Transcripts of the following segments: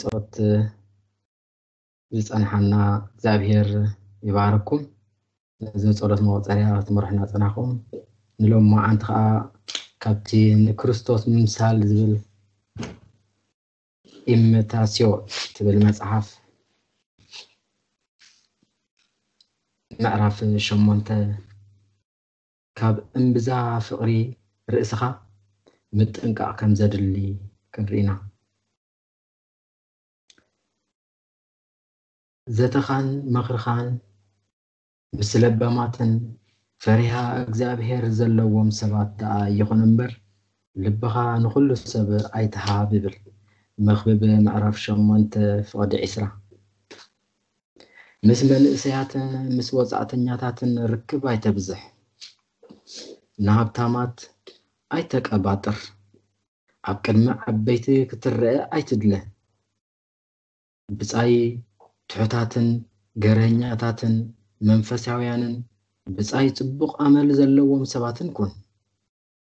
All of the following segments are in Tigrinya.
ጸሎት ዝጸንሓና እግዚኣብሔር ይባርኩም። ነዚ ጸሎት መቆጸርያ ክትመርሑና ጸናኹም። ንሎም መዓንቲ ከኣ ካብቲ ንክርስቶስ ምምሳል ዝብል ኢሚታስዮ ትብል መጽሓፍ ምዕራፍ ሸሞንተ ካብ እምብዛ ፍቕሪ ርእስኻ ምጥንቃቕ ከም ዘድሊ ክንርኢ ኢና። ዘተኻን ምኽርኻን ምስ ለባማትን ፈሪሃ እግዚኣብሔር ዘለዎም ሰባት ደኣ ይኹን እምበር፣ ልብኻ ንኹሉ ሰብ ኣይትሃብ ይብል። መኽብብ ምዕራፍ ሸሞንተ ፍቕዲ ዕስራ። ምስ መንእሰያትን ምስ ወጻእተኛታትን ርክብ ኣይተብዝሕ። ንሃብታማት ኣይተቀባጥር። ኣብ ቅድሚ ዓበይቲ ክትረአ ኣይትድለ። ብጻይ ትሑታትን ገርሀኛታትን መንፈሳውያንን ብጻይ ጽቡቕ ኣመል ዘለዎም ሰባትን ኩን።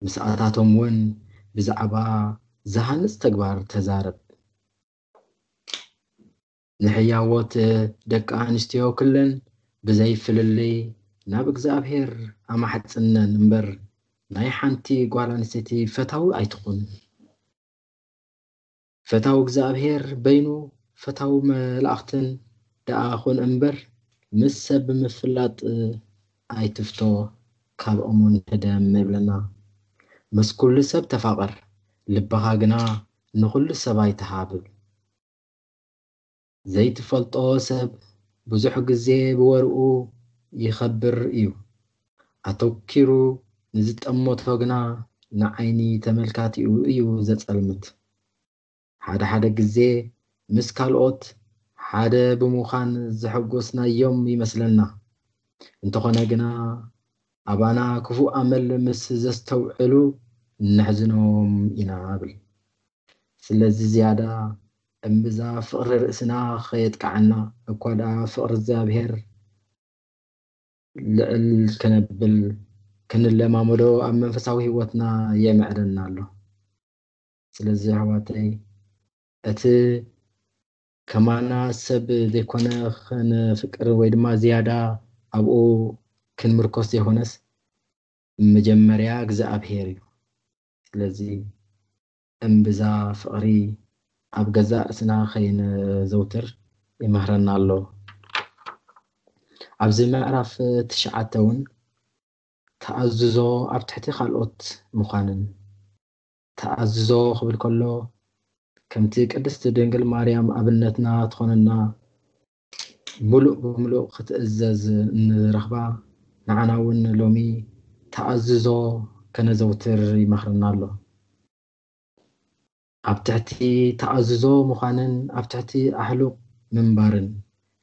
ምስኣታቶም እውን ብዛዕባ ዝሃንጽ ተግባር ተዛረብ። ንሕያዎት ደቂ ኣንስትዮ ክለን ብዘይ ፍልልይ ናብ እግዚኣብሔር ኣማሕጽነን እምበር፣ ናይ ሓንቲ ጓል ኣንስተይቲ ፈታዊ ኣይትኹን። ፈታዊ እግዚኣብሔር በይኑ ፈታዊ መላእኽትን ደኣ ኹን እምበር፣ ምስ ሰብ ብምፍላጥ ኣይትፍቶ፣ ካብኦምን ሕደም ይብለና። ምስ ኩሉ ሰብ ተፋቐር፣ ልብኻ ግና ንኹሉ ሰብ ኣይትሃብ። ዘይትፈልጦ ሰብ ብዙሕ ግዜ ብወርኡ ይኸብር እዩ። ኣተኪሩ ንዝጠመቶ ግና ንዓይኒ ተመልካቲኡ እዩ ዘጸልምት። ሓደ ሓደ ግዜ ምስ ካልኦት ሓደ ብምዃን ዘሐጎስናዮም ይመስለና። እንተኾነ ግና ኣባና ክፉእ ኣመል ምስ ዘስተውዕሉ ነሕዝኖም ኢና እብል። ስለዚ ዝያዳ እምብዛ ፍቕሪ ርእስና ኸየጥቅዓና እኳ ደኣ ፍቕሪ እግዚኣብሔር ልዕል ከነብል ክንለማመዶ ኣብ መንፈሳዊ ህይወትና የምዕደና ኣሎ። ስለዚ ኣሕዋተይ እቲ ከማና ሰብ ዘይኮነ ከነፍቅር ወይ ድማ ዝያዳ ኣብኡ ክንምርኮስ ዘይኮነስ መጀመርያ እግዚኣብሔር እዩ። ስለዚ እምብዛ ፍቕሪ ኣብ ገዛእ ርእስና ከይነዘውትር ይምህረና ኣሎ። ኣብዚ ምዕራፍ ትሽዓተ እውን ተኣዝዞ ኣብ ትሕቲ ካልኦት ምዃንን፣ ተኣዝዞ ክብል ከሎ ከምቲ ቅድስቲ ድንግል ማርያም ኣብነትና ትኾነና ምሉእ ብምሉእ ክትእዘዝ ንረኽባ፣ ንዓና እውን ሎሚ ተኣዝዞ ከነዘውትር ይመኽረና ኣሎ። ኣብ ትሕቲ ተኣዝዞ ምዃንን ኣብ ትሕቲ ኣሕሉቕ ምንባርን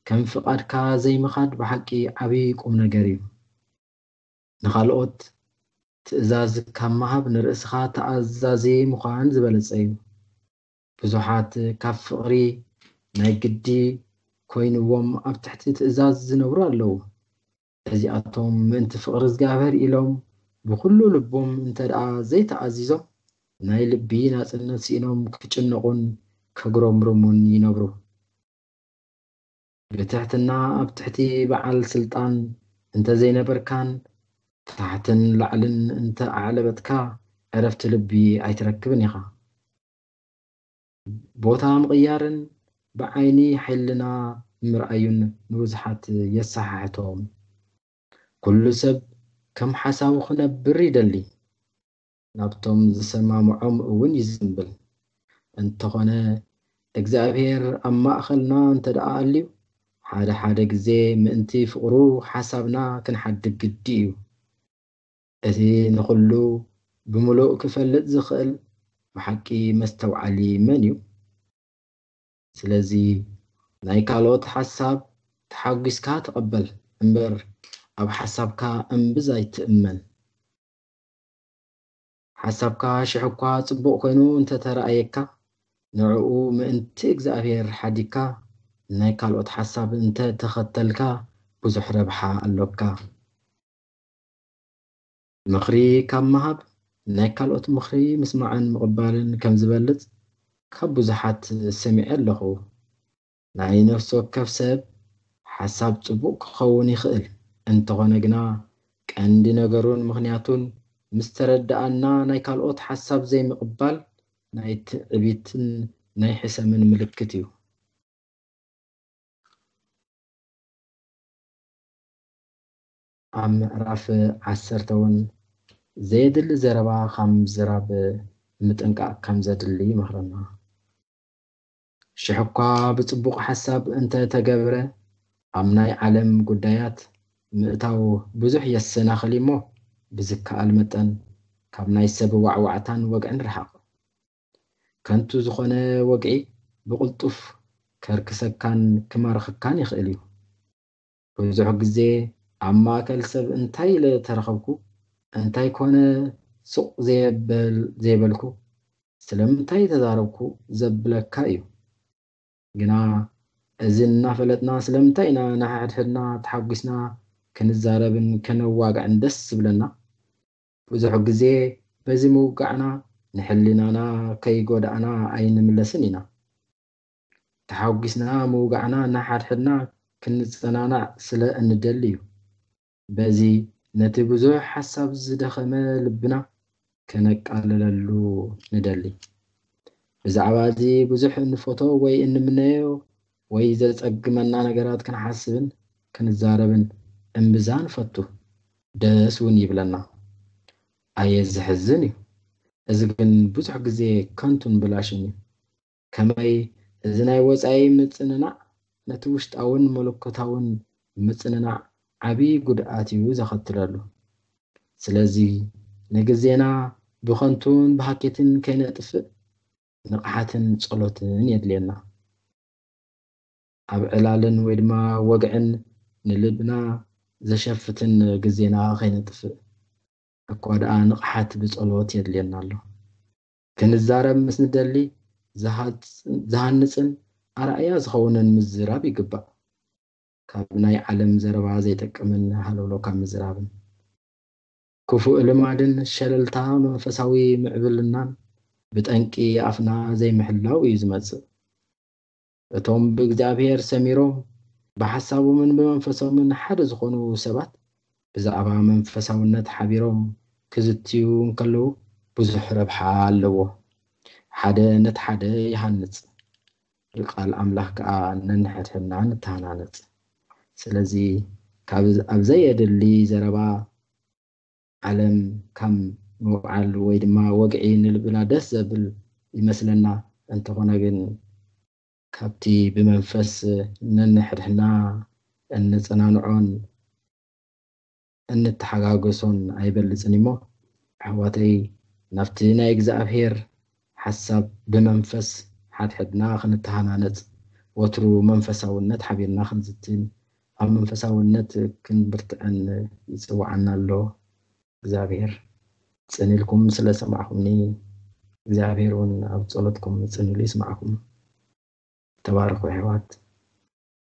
ከም ፍቓድካ ዘይምኻድ ብሓቂ ዓብዪ ቁም ነገር እዩ። ንኻልኦት ትእዛዝ ካብ ምሃብ ንርእስኻ ተኣዛዚ ምዃን ዝበለጸ እዩ። ብዙሓት ካብ ፍቕሪ ናይ ግዲ ኮይንዎም ኣብ ትሕቲ ትእዛዝ ዝነብሩ ኣለዉ። እዚኣቶም ምእንቲ ፍቕሪ እግዚኣብሔር ኢሎም ብኹሉ ልቦም እንተ ደኣ ዘይተኣዚዞም ናይ ልቢ ናጽነት ስኢኖም ክጭነቑን ከጉረምርሙን ይነብሩ። ብትሕትና ኣብ ትሕቲ በዓል ስልጣን እንተ ዘይነበርካን ታሕትን ላዕልን እንተ ኣዕለበትካ ዕረፍቲ ልቢ ኣይትረክብን ኢኻ። ቦታ ምቕያርን ብዓይኒ ሕልና ምርኣዩን ንብዙሓት የሰሓሕቶም። ኩሉ ሰብ ከም ሓሳቡ ክነብር ይደሊ፣ ናብቶም ዝሰማምዖም እውን ይዝንብል። እንተኾነ እግዚኣብሔር ኣብ ማእኸልና እንተ ደኣ ኣልዩ ሓደ ሓደ ግዜ ምእንቲ ፍቕሩ ሓሳብና ክንሓድግ ግዲ እዩ። እቲ ንኹሉ ብምሉእ ክፈልጥ ዝኽእል ብሓቂ መስተውዓሊ መን እዩ? ስለዚ ናይ ካልኦት ሓሳብ ተሓጒስካ ተቐበል እምበር ኣብ ሓሳብካ እምብዛ ኣይትእመን። ሓሳብካ ሽሕ እኳ ጽቡቕ ኮይኑ እንተተረኣየካ ንዕኡ ምእንቲ እግዚኣብሔር ሓዲግካ ናይ ካልኦት ሓሳብ እንተ ተኸተልካ ብዙሕ ረብሓ ኣሎካ። ምኽሪ ካብ ምሃብ ናይ ካልኦት ምኽሪ ምስማዕን ምቕባልን ከም ዝበልጽ ካብ ብዙሓት ሰሚዐ ኣለኹ። ናይ ነፍሲ ወከፍ ሰብ ሓሳብ ጽቡቕ ክኸውን ይኽእል፣ እንተኾነ ግና ቀንዲ ነገሩን ምኽንያቱን ምስ ተረድኣና ናይ ካልኦት ሓሳብ ዘይምቕባል ናይ ትዕቢትን ናይ ሕሰምን ምልክት እዩ። ኣብ ምዕራፍ ዓሰርተ እውን ዘየድሊ ዘረባ ካብ ምዝራብ ምጥንቃቕ ከም ዘድሊ ይመኽረና። ሽሕ እኳ ብጽቡቕ ሓሳብ እንተ ተገብረ፣ ኣብ ናይ ዓለም ጉዳያት ምእታው ብዙሕ የሰናኽል እሞ፣ ብዝከኣል መጠን ካብ ናይ ሰብ ዋዕዋዕታን ወግዕን ርሓቕ። ከንቱ ዝኾነ ወግዒ ብቕልጡፍ ከርክሰካን ክማርኸካን ይኽእል እዩ። ብዙሕ ግዜ ኣብ ማእከል ሰብ እንታይ ኢለ ተረኸብኩ፣ እንታይ ኮነ ስቕ ዘየበል-፣ ዘየበልኩ፣ ስለምንታይ ተዛረብኩ ዘብለካ እዩ። ግና እዚ እናፈለጥና ስለምንታይ ኢና ንሓድሕድና ተሓጒስና ክንዛረብን ከነዋግዕን ደስ ዝብለና? ብዙሕ ግዜ በዚ ምውጋዕና ንሕሊናና ከይጎዳእና ኣይንምለስን ኢና። ተሓጒስና ምውጋዕና ንሓድሕድና ክንጸናናዕ ስለ እንደሊ እዩ። በዚ ነቲ ብዙሕ ሓሳብ ዝደኸመ ልብና ከነቃልለሉ ንደሊ። ብዛዕባ እዚ ብዙሕ እንፈቶ ወይ እንምነዮ ወይ ዘጸግመና ነገራት ክንሓስብን ክንዛረብን እምብዛ ንፈቱ፣ ደስ እውን ይብለና። ኣየ ዘሕዝን እዩ። እዚ ግን ብዙሕ ግዜ ከንቱን ብላሽን እዩ። ከመይ እዚ ናይ ወጻኢ ምጽንናዕ ነቲ ውሽጣውን መለኮታውን ምጽንናዕ ዓቢ ጉድኣት እዩ ዘኸትለሉ። ስለዚ ንግዜና ብኸንቱን ብሃኬትን ከይነጥፍእ ንቕሓትን ጸሎትን የድልየና። ኣብ ዕላልን ወይ ድማ ወግዕን ንልብና ዘሸፍትን ግዜና ከይነጥፍእ እኳ ደኣ ንቕሓት ብጸሎት የድልየና ኣሎ። ክንዛረብ ምስ ንደሊ ዝሃጽ-፣ ዝሃንጽን ኣርኣያ ዝኸውንን ምዝራብ ይግባእ። ካብ ናይ ዓለም ዘረባ ዘይጠቅምን ሃለውለው ካብ ምዝራብን። ክፉእ ልማድን ሸለልታ መንፈሳዊ ምዕብልናን ብጠንቂ ኣፍና ዘይምሕላው እዩ ዝመጽእ። እቶም ብእግዚኣብሔር ሰሚሮም ብሓሳቦምን ብመንፈሶምን ሓደ ዝኾኑ ሰባት ብዛዕባ መንፈሳውነት ሓቢሮም ክዝትዩ እንከለዉ ብዙሕ ረብሓ ኣለዎ። ሓደ ነቲ ሓደ ይሃንጽ፣ ብቃል ኣምላኽ ከኣ ነንሕድሕድና ንተሃናነጽ። ስለዚ ካብ ኣብ ዘየድሊ ዘረባ ዓለም ከም ምውዓል ወይ ድማ ወግዒ ንልብና ደስ ዘብል ይመስለና፣ እንተኾነ ግን ካብቲ ብመንፈስ ነንሕድሕድና እንጸናንዖን እንተሓጋገሶን ኣይበልጽን እሞ፣ ኣሕዋተይ፣ ናብቲ ናይ እግዚኣብሔር ሓሳብ ብመንፈስ ሓድሕድና ክንተሃናነጽ፣ ወትሩ መንፈሳውነት ሓቢርና ክንዝትን፣ ኣብ መንፈሳውነት ክንብርትዕን ይጽውዓና ኣሎ። እግዚኣብሔር ጽን ኢልኩም ስለ ሰማዕኹምኒ፣ እግዚኣብሔር እውን ኣብ ጸሎትኩም ጽን ኢሉ ይስማዕኩም። ተባረኹ ኣሕዋት።